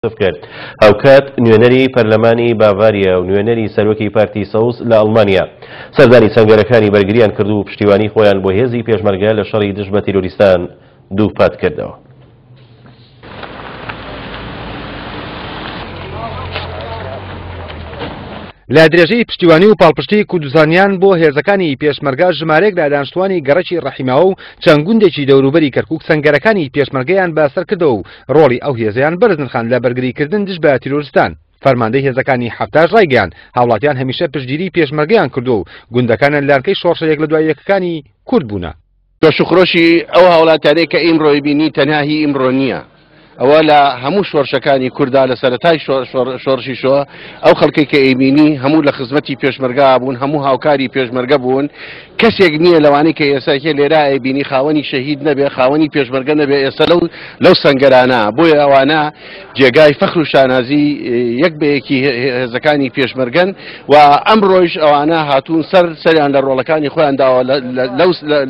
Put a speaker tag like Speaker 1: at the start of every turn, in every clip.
Speaker 1: کرد. هاوکات نوێنەری پەرلەمانی باڤاریا و نوێنەری سەرۆکی پارتی سەوز لە ئەڵمانیا سەردانی سەنگەرەکانی بەرگریان کرد و پشتیوانی خۆیان بۆ هێزی پێشمەرگە لە شەڕی دژ بە تیرۆریستان دووپات کردەوە.
Speaker 2: لە درێژەی پشتیوانی و پاڵپشتی کوردستانیان بۆ هێزەکانی پێشمەرگە ژمارەیەک لە دانیشتوانی گەڕەکی ڕەحیماوە و چەند گوندێکی دەوروبەری کەرکوک سەنگەرەکانی پێشمەرگەیان بەسەرکردەوە و ڕۆڵی ئەو هێزەیان بەرز نرخاند لە بەرگریکردن دژ بە تیرۆرستان. فەرماندەی هێزەکانی حەفتاش ڕایگەیاند، هاوڵاتیان هەمیشە پشتگیری پێشمەرگەیان کردووە و گوندەکانیان لانکەی شۆڕشە یەک لە دوای یەکەکانی کورد بوونە.
Speaker 3: جۆش و خرۆشی ئەو هاوڵاتیانەی کە ئیمڕۆی بینی تەنها هی ئیمڕۆ نییە، ئەوە لە هەموو شۆرشەکانی کوردا لە سەرەتای شۆڕشی شۆ ئەو خەڵکەی کە ئەیبینی هەموو لە خزمەتی پێشمەرگا بوون، هەموو هاوکاری پێشمەرگە بوون. کەسێک نییە لەوانەی کە ئێستا کێ لێرە ئەیبینی خاوەنی شەهید نەبێ، خاوەنی پێشمەرگە نەبێ ئێستا لەو لەو سەنگەرانە. بۆیە ئەوانە جێگای فەخر و شانازی یەک بە یەکی هێزەکانی پێشمەرگەن و ئەمڕۆیش ئەوانە هاتوون سەر سەریان لە ڕۆڵەکانی خۆیان داوە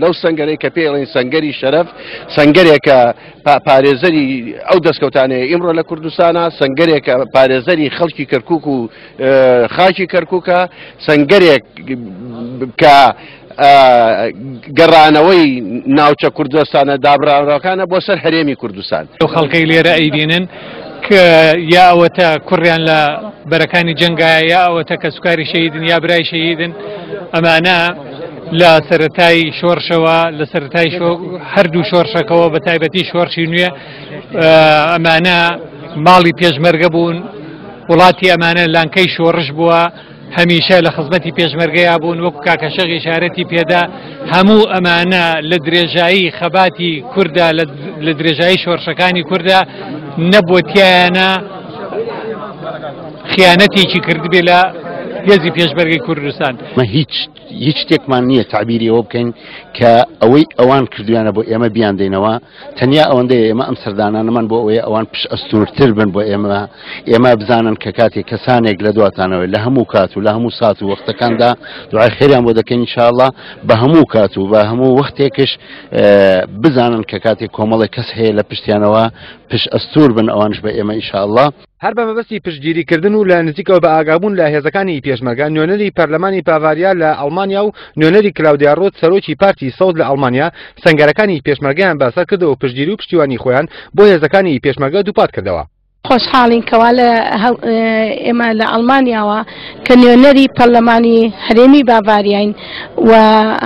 Speaker 3: لەو سەنگەرەی کە پێی ئەڵێن سەنگەری شەرەف، سەنگەرێکە پارێزەری ئەو دەستکەوتانەیە ئیمڕۆ لە کوردستانە، سەنگەرێکە پارێزەری خەڵکی کەرکوک و خاکی کەرکوکە، سەنگەرێک کە گەڕانەوەی ناوچە کوردستانە دابراوەکانە بۆ سەر هەرێمی کوردستان.
Speaker 4: ئەو خەڵکەی لێرە ئەیبینن کە یا ئەوەتە کوڕیان لە بەرەکانی جەنگایە یا ئەوەتە کەسوکاری شەهیدن یا برای شەهیدن، ئەمانە لە سەرەتای شۆڕشەوە لە سەرەتای هەردوو شۆڕشەکەوە بە تایبەتی شۆڕشی نوێ ئەمانە ماڵی پێشمەرگە بوون، وڵاتی ئەمانە لانکەی شۆڕش بووە، هەمیشە لە خزمەتی پێشمەرگەیا بوون، وەکو کاکە شێخ ئیشارەتی پێدا هەموو ئەمانە لە درێژایی خەباتی کووردا لە درێژایی شۆڕشەکانی کووردا نەبووە تیایانە خیانەتێکی کردبێ لە هێزی پێشمەرگەی کوردستان.
Speaker 5: مە هیچ هیچ شتێکمان نییە تەعبیری ئەوە بکەین کە ئەوەی ئەوان کردویانە بۆ ئێمە بیاندەینەوە، تەنیا ئەوەندەیە ئێمە ئەم سەردانانەمان بۆ ئەوەیە ئەوان پشت ئەستوورتر بن بۆ ئێمە، ئێمە بزانن کە کاتێک کەسانێک لە دواتانەوە لە هەموو کات و لە هەموو سات و وەختەکاندا دوعای خێریان بۆ دەکەین ئینشاءاللە، بە هەموو کات و بە هەموو وەختێکش بزانن کە کاتێک کۆمەڵێک کەس هەیە لە پشتیانەوە پشت ئەستوور بن ئەوانش بە ئێمە ئینشاءاللە.
Speaker 2: هەر بە مەبەستی پشتگیریکردن و لە نزیکەوە بە ئاگابوون لە هێزەکانی پێشمەرگە، نوێنەری پەرلەمانی باڤاریا لە ئەڵمانیا و نوێنەری کلاودیا ڕۆت سەرۆکی پارتی سەوز لە ئەڵمانیا سەنگەرەکانی پێشمەرگەیان بەسەر کردەوە و پشتگیری و پشتیوانی خۆیان بۆ هێزەکانی پێشمەرگە دووپات کردەوە.
Speaker 6: خۆشحاڵین کەوا لە ئێمە لە ئەڵمانیاوە کە نوێنەری پەرلەمانی هەرێمی باڤاریاین و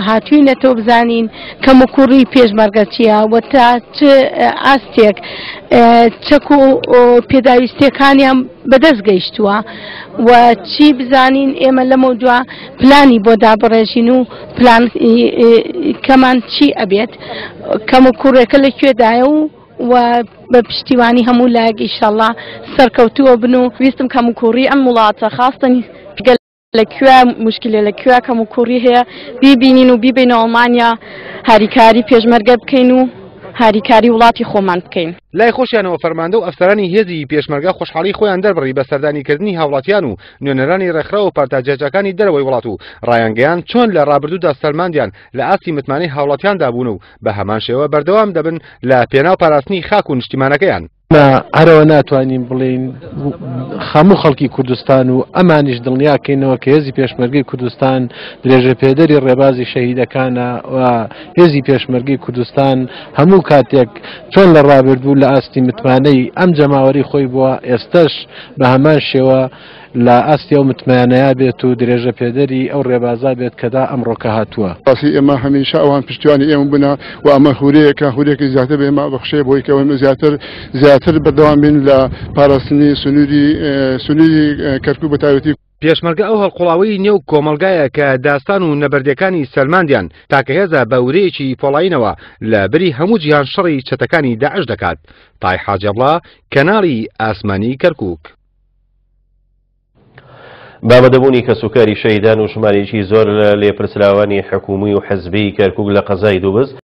Speaker 6: هاتوینەتەوە بزانین کەموکوڕی پێشمەرگە چییە و تا چ ئاستێک چەک و پێداویستیەکانیان بەدەست گەیشتووە و چی بزانین ئێمە لەمە دوا پلانی بۆ دابڕێژین و پلان کەمان چی ئەبێت کەم و کوڕێکە لە کوێدایە و و بە پشتیوانی هەموو لایەک ئیشەڵا سەرکەوتووە بن و
Speaker 7: ویستم کەم و کوڕی ئەم وڵاتە خاستن گەل لە کوێ موشکیلە لە کوێ کەم و کوڕی هەیە بیبینین و بیبینە ئەڵمانیا هاریکاری پێشمەرگە بکەین و هاریکاری وڵاتی خۆمان بکەین.
Speaker 2: لای خۆشیانەوە فەرماندە و ئەفسەرانی هێزی پێشمەرگە خۆشحاڵی خۆیان دەربڕی بە سەردانیکردنی هاوڵاتیان و نوێنەرانی ڕێکخراو و پارتە جیاجیاکانی دەرەوەی وڵات و ڕایانگەیاند چۆن لە ڕابردوودا سەلماندیان لە ئاستی متمانەی هاوڵاتیاندا بوون و بە هەمان شێوە بەردەوام دەبن لە پێناو پاراستنی خاک و نیشتیمانەکەیان.
Speaker 8: ئێمە هەرەوە ناتوانین بڵێین هەموو خەڵکی کوردستان و ئەمانیش دڵنیاکەینەوە کە هێزی پێشمەرگەی کوردستان درێژەپێدەری ڕێبازی شەهیدەکانە و هێزی پێشمەرگەی کوردستان هەموو کاتێک چۆن لە ڕابردوو لە ئاستی متمانەی ئەم جەماوەری خۆی بووە ئێستەش بە هەمان شێوە لە ئاستی ئەو متمانەیە بێت و درێژە پێدەری ئەو ڕێبازە بێت کە تا ئەمڕۆکە هاتووە.
Speaker 9: ڕاستی ئێمە هەمیشە ئەوان پشتیوانی ئێمە بوونە و ئەمە هورەیەکە، هورەیەکی زیاتر بە ئێمە بەخشێ بۆی کە ئێمە زیاتر زیاتر بەردەوام بین لە پاراستنی سنووری سنووری کەرکووک بە تایبەتی.
Speaker 2: پێشمەرگە ئەو هەڵقوڵاوەی نێو کۆمەڵگایە کە داستان و نەبەردیەکانی سەلماندیان تاکە هێزە بە ورەیەکی پۆڵایینەوە لە بری هەموو جیهان شەڕی چەتەکانی داعش دەکات. تای حاجی عەبڵا، کەناڵی ئاسمانی کەرکووک.
Speaker 1: بە ئامادەبوونی کەسوکاری شەهیدان و ژمارەیەکی زۆر لە لێپرسراوانی حکوومی و حزبیی کەرکووک لە قەزای دووبز،